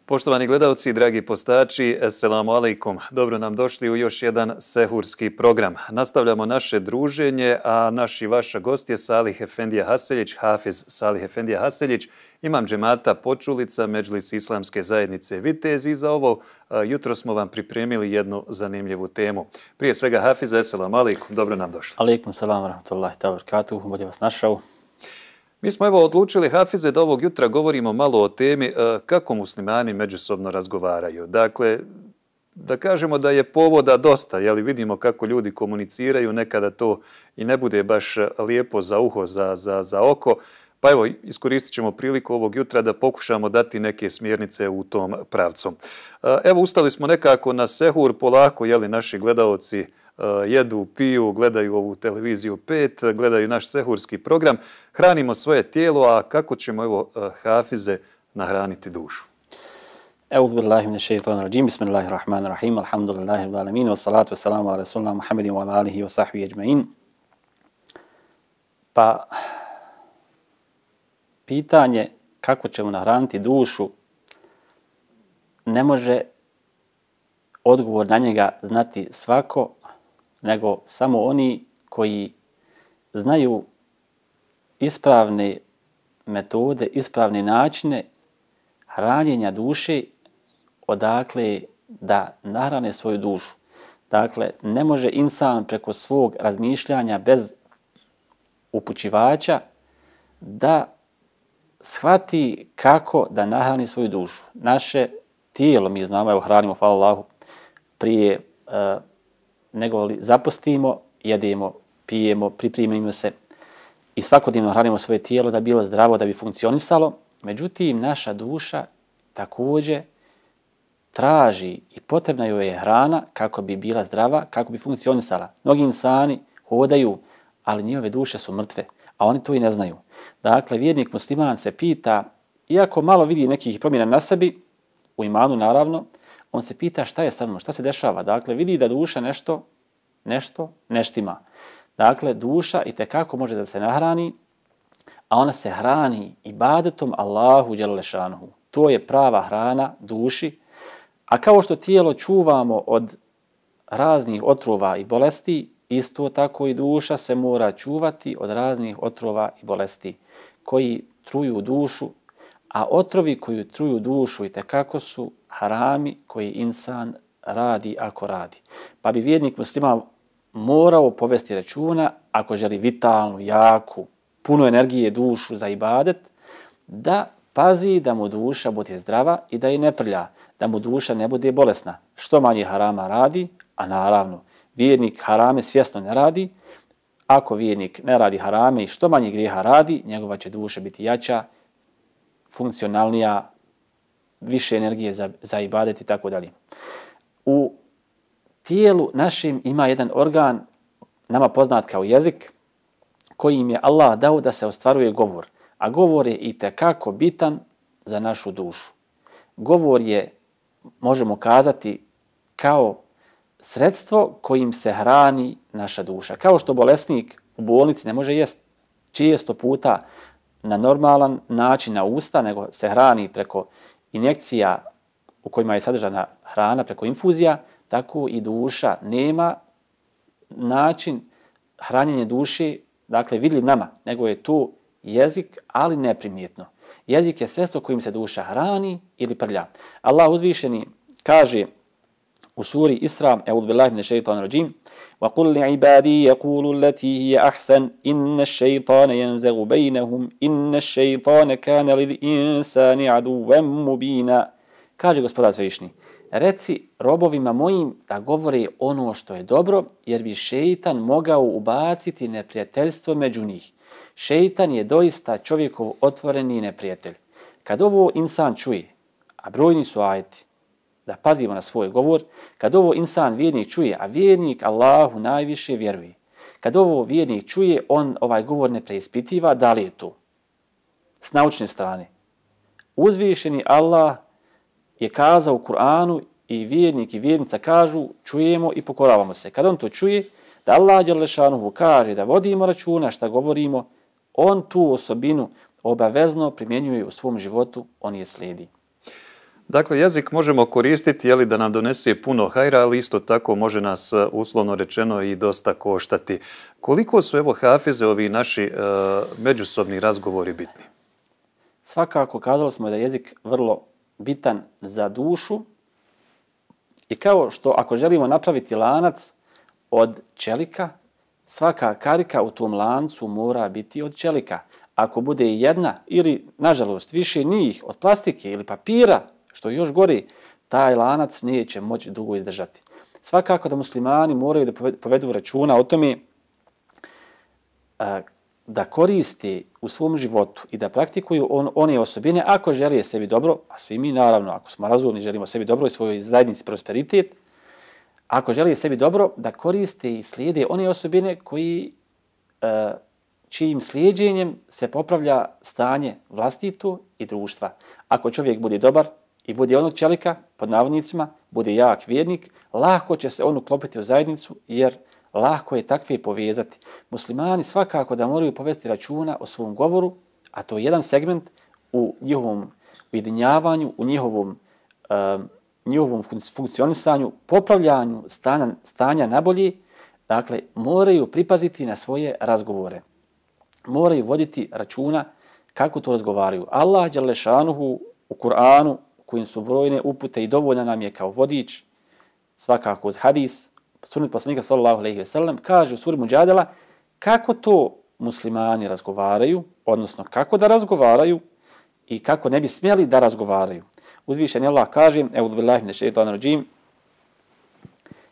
Poštovani gledalci, dragi postači, assalamu alaikum. Dobro nam došli u još jedan sehurski program. Nastavljamo naše druženje, a naš i vaša gost je Salih Efendija Haseljić, Hafiz Salih Efendija Haseljić, imam džemata Počulica, Medžlis Islamske zajednice Vitez, i za ovo jutro smo vam pripremili jednu zanimljivu temu. Prije svega, Hafiza, assalamu alaikum, dobro nam došli. Alaikum salam wa rahmatullahi ta'ala barakatuhu, bolje vas našao. Mi smo evo odlučili, Hafize, da ovog jutra govorimo malo o temi kako muslimani međusobno razgovaraju. Dakle, da kažemo da je povoda dosta, jeli vidimo kako ljudi komuniciraju, nekada to i ne bude baš lijepo za uho, za oko. Pa evo, iskoristit ćemo priliku ovog jutra da pokušamo dati neke smjernice u tom pravcu. Evo, ustali smo nekako na sehur, polako, jeli naši gledaoci jedu, piju, gledaju ovu televiziju 5, gledaju naš sehurski program, hranimo svoje tijelo, a kako ćemo, evo, Hafize, nahraniti dušu? Euz billahi minash shaitanir rajim, bismillahirrahmanirrahim, alhamdulillahi rabbil alamin, wassalatu wassalamu ala rasulina Muhammedin wa ala alihi wa sahbihi ajma'in. Pa, pitanje kako ćemo nahraniti dušu, ne može odgovor na njega znati svako, nego samo oni koji znaju ispravne metode, ispravne načine hranjenja duše, odakle da nahrane svoju dušu. Dakle, ne može insan preko svog razmišljanja bez upućivača da shvati kako da nahrani svoju dušu. Naše tijelo, mi znamo, evo hranimo, hvala Allahu, prije nego li zapostimo, jedemo, pijemo, pripremimo se i svakodnevno hranimo svoje tijelo da bi bilo zdravo, da bi funkcionisalo. Međutim, naša duša također traži i potrebna joj je hrana kako bi bila zdrava, kako bi funkcionisala. Mnogi insani hodaju, ali njihove duše su mrtve, a oni to i ne znaju. Dakle, vjernik musliman se pita, iako malo vidi nekih promjena na sebi, u imanu naravno, on se pita šta je sa mnom, šta se dešava. Dakle, vidi da duša nešto neštima. Dakle, duša itekako može da se nahrani, a ona se hrani ibadetom Allahu dželle šanuhu. To je prava hrana duši. A kao što tijelo čuvamo od raznih otrova i bolesti, isto tako i duša se mora čuvati od raznih otrova i bolesti koji truju dušu, a otrovi koji truju dušu itekako su harami koji insan radi ako radi. Pa bi vjernik musliman morao povesti računa, ako želi vitalnu, jaku, puno energije dušu za ibadet, da pazi da mu duša bude zdrava i da je ne prlja, da mu duša ne bude bolesna. Što manje harama radi, a naravno vjernik harame svjesno ne radi, ako vjernik ne radi harame i što manje grijeha radi, njegova će duša biti jača, funkcionalnija, više energije za ibadet i tako dalje. U tijelu našim ima jedan organ, nama poznat kao jezik, kojim je Allah dao da se ostvaruje govor. A govor je itekako bitan za našu dušu. Govor je, možemo kazati, kao sredstvo kojim se hrani naša duša. Kao što bolesnik u bolnici ne može jesti često puta na normalan način na usta, nego se hrani preko injekcija u kojima je sadržana hrana, preko infuzija, tako i duša nema način hranjenja duše, dakle vidljiv nama, nego je to jezik, ali neprimjetno. Jezik je sredstvo kojim se duša hrani ili prlja. Allah uzvišeni kaže u suri Isra, Eûzu billahi minash shaitanir rajim, وَقُلْ لِعِبَادِي يَقُولُوا الَّتِي هِيَ أَحْسَنُ إِنَّ الشَّيْطَانَ يَنزَغُ بَيْنَهُمْ إِنَّ الشَّيْطَانَ كَانَ لِلْإِنسَانِ عَدُوًّا مُبِينًا. Kaže Gospodar Svevišnji, reci robovima mojim da govore ono što je dobro, jer bi šeitan mogao ubaciti neprijateljstvo među njih. Šeitan je doista čovjekov otvoreni neprijatelj. Kad ovo insan čuje, a brojni su ajeti, da pazimo na svoj govor, kad ovo insan vjernik čuje, a vjernik Allahu najviše vjeruje, kad ovo vjernik čuje, on ovaj govor ne preispitiva, da li je to s naučne strane. Uzvišeni Allah je kazao u Kur'anu i vjernik i vjernica kažu čujemo i pokoravamo se. Kad on to čuje, da Allah dželle šanuhu kaže da vodimo računa šta govorimo, on tu osobinu obavezno primjenjuje u svom životu, on je slijedi. Dakle, jezik možemo koristiti da nam donese puno hajra, ali isto tako može nas, uslovno rečeno, i dosta koštati. Koliko su, hafize, ovi naši međusobni razgovori bitni? Svakako, kazali smo da je jezik vrlo bitan za dušu i kao što ako želimo napraviti lanac od čelika, svaka karika u tom lancu mora biti od čelika. Ako bude jedna ili, nažalost, više njih od plastike ili papira, što još gori, taj lanac neće moći dugo izdržati. Svakako da muslimani moraju da povedu računa o tome da koristi u svom životu i da praktikuju one osobine ako žele sebi dobro, a svi mi naravno, ako smo razumni, želimo sebi dobro i svojoj zajednici prosperitet, ako žele sebi dobro, da koriste i slijede one osobine čijim slijedjenjem se popravlja stanje vlastito i društva. Ako čovjek bude dobar i bude onog čelika, pod navodnicima, bude jak vjernik, lako će se on uklopiti u zajednicu jer lako je takve povezati. Muslimani svakako da moraju povesti računa o svom govoru, a to je jedan segment u njihovom ujedinjavanju, u njihovom funkcionisanju, popravljanju stanja nabolje. Dakle, moraju pripaziti na svoje razgovore. Moraju voditi računa kako to razgovaraju. Allah dželle šanuhu u Kur'anu, kojim su brojne upute i dovoljna nam je kao vodič, svakako uz hadis, sunnet poslanika sallallahu alejhi ve sellem, kaže u suri Muđadela kako to muslimani razgovaraju, odnosno kako da razgovaraju i kako ne bi smjeli da razgovaraju. Uzvišeni Allah kaže, e'udhu billahi minash shaitanir rajim,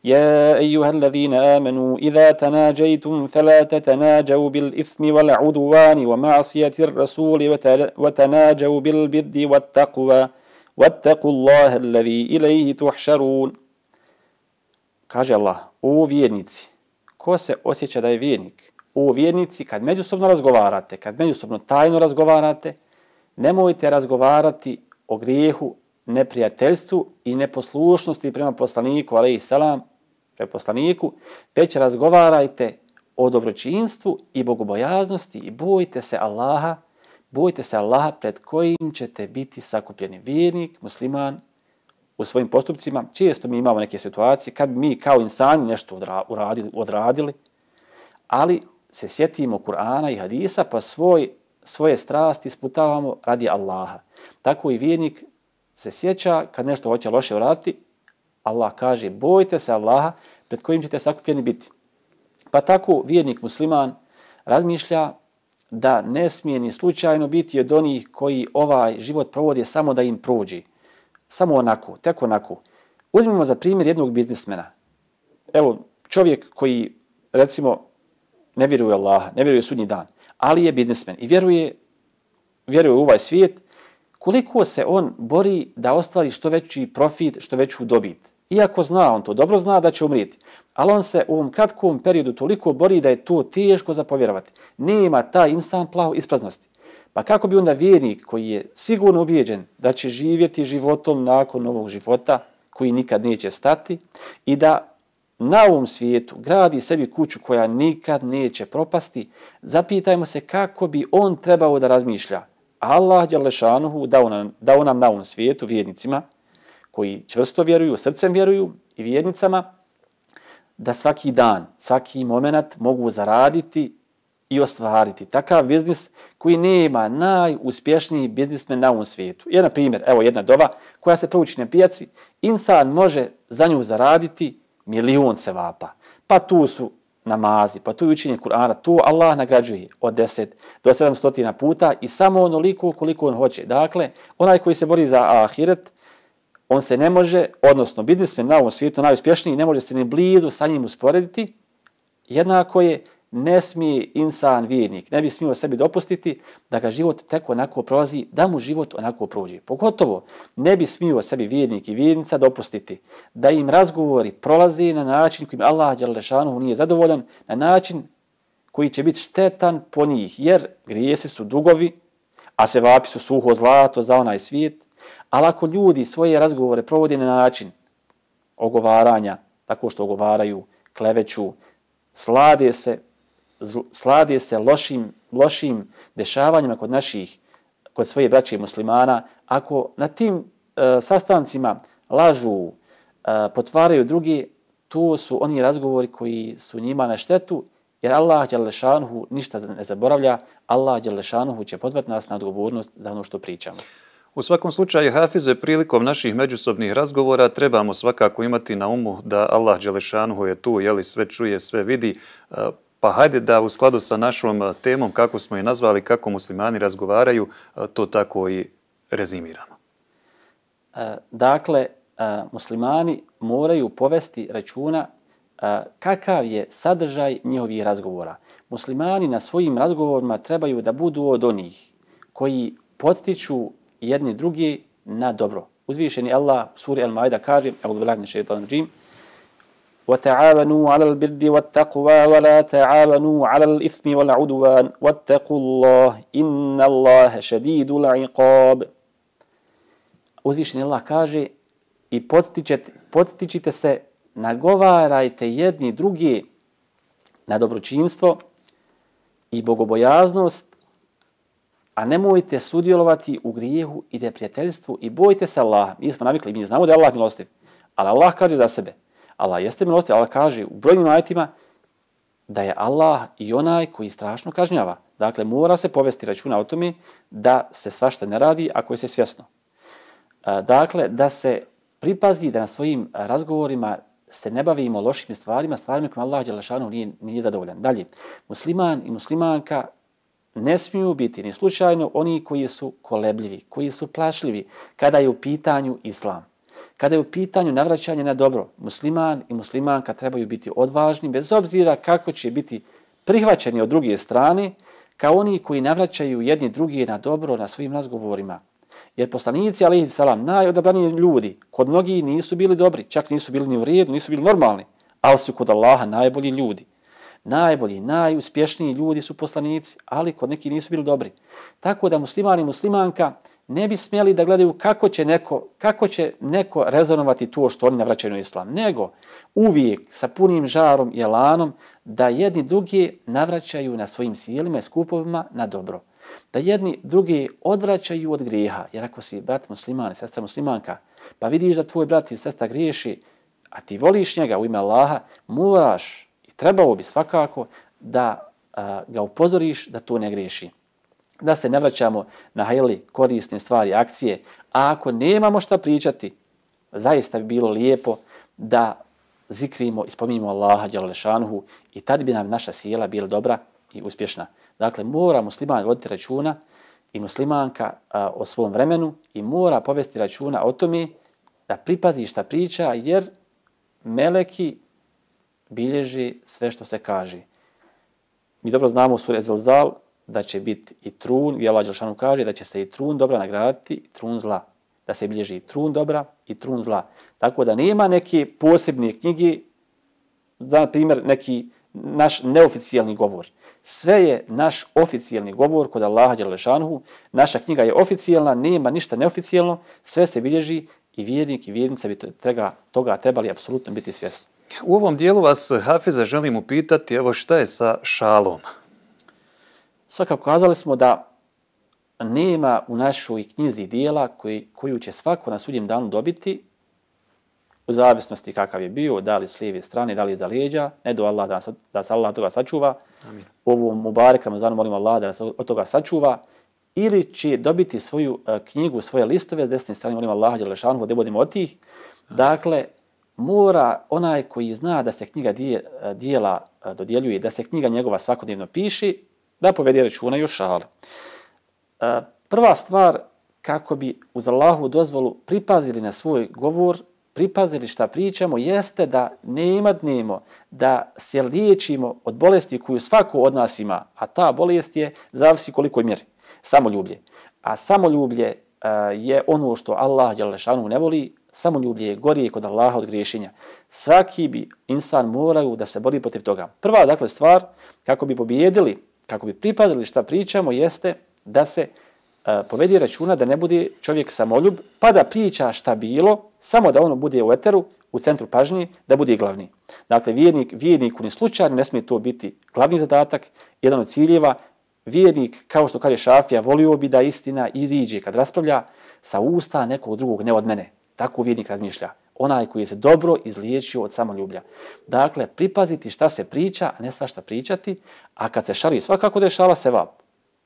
يا أيها الذين آمنوا إذا تناجيتم فلا تتناجوا بالإثم والعدوان ومعصية الرسول وتناجوا بالبر والتقوى واتقوا الله الذي إليه تحشرون. Kaže Allah, o vjernici, ko se osjeća da je vjernik? O vjernici, kad međusobno razgovarate, kad međusobno tajno razgovarate, nemojte razgovarati o grijehu, neprijateljstvu i neposlušnosti prema poslaniku, alejhi selam, prema poslaniku, već razgovarajte o dobročinstvu i bogobojaznosti i bojte se Allaha pred kojim ćete biti sakupljeni. Vjernik, musliman, u svojim postupcima, često mi imamo neke situacije kad mi kao insani nešto odradili, ali se sjetimo Kur'ana i hadisa pa svoje strasti isputavamo radi Allaha. Tako i vjernik se sjeća kad nešto hoće loše uraditi, Allah kaže bojte se Allaha pred kojim ćete sakupljeni biti. Pa tako vjernik musliman razmišlja da ne smije ni slučajno biti od onih koji ovaj život provode samo da im prođe. Samo onako, tek onako. Uzmimo za primjer jednog biznismena. Evo, čovjek koji, recimo, ne vjeruje u Allaha, ne vjeruje u sudnji dan, ali je biznismen i vjeruje u ovaj svijet, koliko se on bori da ostvari što veći profit, što veću dobit. Iako zna, on to dobro zna da će umrijeti, ali on se u ovom kratkom periodu toliko bori da je to teško za povjerovati. Nema taj insan plaho ispraznosti. Pa kako bi onda vjernik koji je sigurno ubijeđen da će živjeti životom nakon ovog života koji nikad neće stati i da na ovom svijetu gradi sebi kuću koja nikad neće propasti, zapitajmo se kako bi on trebao da razmišlja. Allah dželle šanuhu dao nam na ovom svijetu vjernicima koji čvrsto vjeruju, srcem vjeruju i vjernicama da svaki dan, svaki moment mogu zaraditi i ostvariti takav biznis koji nema najuspješniji biznismen na ovom svijetu. Je, na primjer, evo jedna dova koja se prouči na pijaci, insan može za nju zaraditi 1.000.000 sevapa. Pa tu su namazi, pa tu je učenje Kur'ana, tu Allah nagrađuje od 10 do 700 puta i samo onoliko koliko on hoće. Dakle, onaj koji se bori za ahiret, on se ne može, odnosno biznismen na ovom svijetu najuspješniji, ne može se ni blizu sa njim usporediti, jednako je ne smije insan vjernik, ne bi smio sebi dopustiti da ga život tek onako prolazi, da mu život onako prođe. Pogotovo ne bi smio sebi vjernik i vjernica dopustiti da im razgovori prolaze na način kojim Allah dželle šanuhu nije zadovoljan, na način koji će biti štetan po njih, jer grijesi su dugovi, a sevapi su suho zlato za onaj svijet. Ali ako ljudi svoje razgovore provode na način ogovaranja, tako što ogovaraju, kleveću, slade se lošim dešavanjima kod svoje braće muslimana, ako na tim sastancima lažu, potvaraju drugi, to su oni razgovori koji su njima na štetu, jer Allah dželešanuhu ništa ne zaboravlja, Allah dželešanuhu će pozvati nas na odgovornost za ono što pričamo. U svakom slučaju, hafize, prilikom naših međusobnih razgovora trebamo svakako imati na umu da Allah dželešanuhu je tu, sve čuje, sve vidi. Pa hajde da u skladu sa našom temom, kako smo je nazvali, kako muslimani razgovaraju, to tako i rezimiramo. Dakle, muslimani moraju povesti računa kakav je sadržaj njihovih razgovora. Muslimani na svojim razgovorima trebaju da budu od onih koji podstiču jedni drugi na dobro. Uzvišeni Allah u suri Al-Maida kaže: "A'udhu billahi minash shaitanir rajim. وَتَعَاوَنُوا عَلَى الْبِرِّ وَالتَّقْوَى وَلَا تَعَاوَنُوا عَلَى الْإِثْمِ وَالْعُدْوَانِ وَاتَّقُوا اللَّهَ إِنَّ اللَّهَ شَدِيدُ الْعِقَابِ." Uzvišeni Allah kaže: "I podstičite se, nagovarajte jedni drugi na dobročinstvo i bogobojaznost, a nemojte sudjelovati u grijehu i neprijateljstvu i bojte se Allaha." Mi smo navikli, mi znamo da je Allah milostiv, ali Allah kaže za sebe. Allah jeste milostiv, Allah kaže u brojnim ajetima da je Allah i onaj koji strašno kažnjava. Dakle, mora se povesti računa o tome da se svašta ne radi ako je se svjesno. Dakle, da se pripazi da na svojim razgovorima se ne bavimo lošim stvarima kojima Allah dželešanu nije zadovoljan. Dalje, musliman i muslimanka ne smiju biti ni slučajno oni koji su kolebljivi, koji su plašljivi kada je u pitanju islam. Kada je u pitanju navraćanje na dobro, musliman i muslimanka trebaju biti odvažni, bez obzira kako će biti prihvaćeni od druge strane, kao oni koji navraćaju jedni drugi na dobro na svojim razgovorima. Jer poslanici, alejhi selam, najodabraniji ljudi, kod mnogih nisu bili dobri, čak nisu bili ni u redu, nisu bili normalni, ali su kod Allaha najbolji ljudi. Najbolji, najuspješniji ljudi su poslanici, ali kod nekih nisu bili dobri. Tako da musliman i muslimanka ne bi smjeli da gledaju kako će neko rezonovati to što oni navraćaju na islam, nego uvijek sa punim žarom i elanom da jedni drugi navraćaju na svojim sjelima i skupovima na dobro. Da jedni drugi odvraćaju od grijeha, jer ako si brat musliman i sestra muslimanka, pa vidiš da tvoj brat i sestra griješi, a ti voliš njega u ime Allaha, moraš i trebao bi svakako da ga upozoriš da to ne griješi. Da se ne vraćamo na korisne stvari, akcije, a ako nemamo šta pričati, zaista bi bilo lijepo da zikrimo i spominjemo Allaha dželešanuhu i tad bi nam naša sjela bila dobra i uspješna. Dakle, mora musliman voditi računa i muslimanka o svom vremenu i mora povesti računa o tome da pripazi šta priča, jer meleki bilježi sve što se kaže. Mi dobro znamo u suri Zelzal da će biti i trun, gdje Allah dželešanu kaže da će se i trun dobra nagraditi i trun zla. Da se bilježi i trun dobra i trun zla. Tako da nema neke posebne knjige, za primjer neki naš neoficijalni govor. Sve je naš oficijalni govor kod Allaha dželešanu. Naša knjiga je oficijalna, nema ništa neoficijalno, sve se bilježi i vjernik i vjernica bi toga trebali apsolutno biti svjesni. U ovom dijelu vas, hafize, želim upitati, evo šta je sa šalom? Svakako kazali smo da nema u našoj knjizi dijela koju će svako na sudnjem danu dobiti, u zavisnosti kakav je bio, da li s lijeve strane, da li za leđa, ne do Allah da se Allah toga sačuva. Amin. U ovom Mubarek Ramazanu molimo Allah da se od toga sačuva, ili će dobiti svoju knjigu, svoje listove s desne strane, molimo Allah dželešanu da budemo od tih. Dakle, mora onaj koji zna da se knjiga dijela dodjeljuje, da se knjiga njegova svakodnevno piše, da povede računa i o šali. Prva stvar, kako bi uz Allahovu dozvolu pripazili na svoj govor, pripazili šta pričamo, jeste da ne imadnemo, da se liječimo od bolesti koju svako od nas ima, a ta bolest je, zavisi koliko je mjeri, samoljublje. A samoljublje je ono što Allah dželešanu ne voli, samoljublje je gorije kod Allaha od griješenja. Svaki bi insan moraju da se bori protiv toga. Prva, dakle, stvar, kako bi pobijedili, kako bi pripazili šta pričamo, jeste da se povedi računa da ne bude čovjek samoljub, pa da priča šta bilo, samo da ono bude u eteru, u centru pažnje, da bude glavni. Dakle, vjerniku ni slučajno ne smije to biti glavni zadatak, jedan od ciljeva. Vjernik, kao što kaže Šafija, volio bi da istina iziđe kad raspravlja, sa usta nekog drugog, ne od mene. Tako vjernik razmišlja. Onaj koji je se dobro izliječio od samoljublja. Dakle, pripaziti šta se priča, a ne svašta pričati, a kad se šali, svakako da je šala sevap.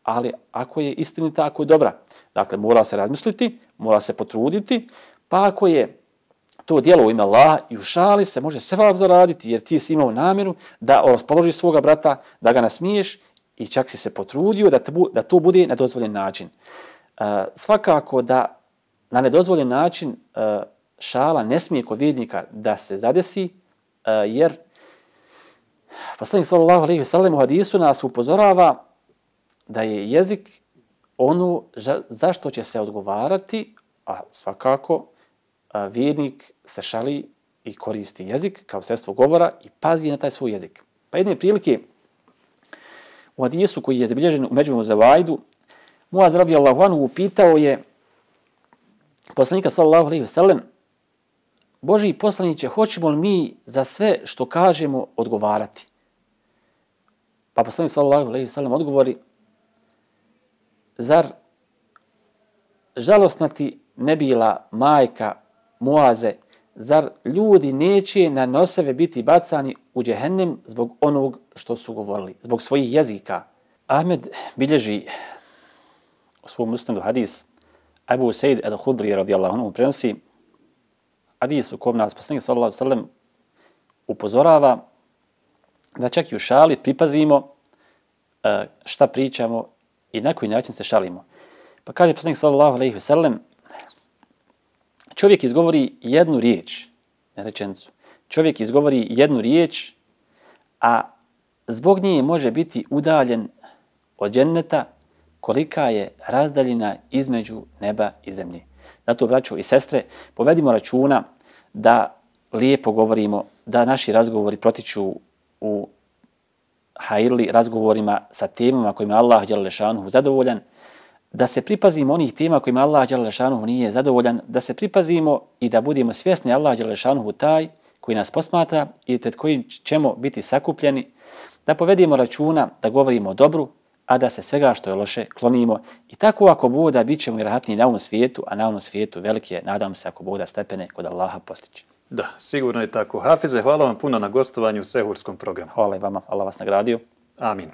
Ali ako je istinita, ako je dobra, dakle, mora se razmisliti, mora se potruditi, pa ako je to djelo u ime Allaha i u šali se može sevap zaraditi, jer ti si imao namjeru da raspoložiš svoga brata, da ga nasmiješ i čak si se potrudio da to bude na dozvoljen način. Svakako da na nedozvoljen način šala ne smije kod vjernika da se zadesi, jer poslanik sallallahu alejhi ve sellem u hadisu nas upozorava da je jezik ono zašto će se odgovarati, a svakako vjernik se šali i koristi jezik kao sredstvo govora i pazi na taj svoj jezik. Pa jedne prilike u hadisu koji je zabilježen u Međmu Zavaidu, Muaz radijallahu anhu upitao je poslanika sallallahu alejhi ve sellem: Božji poslaniće, hoćemo li mi za sve što kažemo odgovarati? Pa poslanik sallallahu alejhi ve sellem odgovori: Zar žalosna ti ne bila majka Muaze, zar ljudi neće na sebe biti bacani u džehennem zbog onog što su govorili, zbog svojih jezika? Ahmed bilježi u svom musnadu hadis, Abu Sa'id al-Hudri radijallahu anhu prenosi hadis u kom nas poslanik sallallahu alejhi ve sellem upozorava da čak i u šali pripazimo šta pričamo i na koji način se šalimo. Pa kaže poslanik sallallahu alejhi ve sellem: čovjek izgovori jednu riječ, ne rečenicu. Čovjek izgovori jednu riječ, a zbog nje može biti udaljen od dženneta kolika je razdaljina između neba i zemlje. Zato, braćo i sestre, povedimo računa da lijepo govorimo, da naši razgovori protiču u hajrli razgovorima sa temama kojima Allah dželle šanuhu zadovoljan, da se pripazimo onih tema kojima Allah dželle šanuhu nije zadovoljan, da se pripazimo i da budemo svjesni Allah dželle šanuhu taj koji nas posmatra i pred kojim ćemo biti sakupljeni, da povedemo računa da govorimo o dobru, a da se svega što je loše klonimo. I tako ako Bog da, bit ćemo i rahatniji na ovom svijetu, a na ovom svijetu velike, nadam se, ako Bog da, stepene kod Allaha postići. Da, sigurno je tako. Hafize, hvala vam puno na gostovanju u Sehurskom programu. Hvala i vama, Allah vas nagradio. Amin.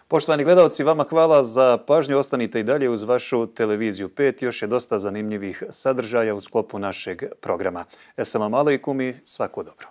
Poštovani gledalci, vama hvala za pažnju. Ostanite i dalje uz vašu televiziju 5. Još je dosta zanimljivih sadržaja u sklopu našeg programa. Esselamu alejkum i svako dobro.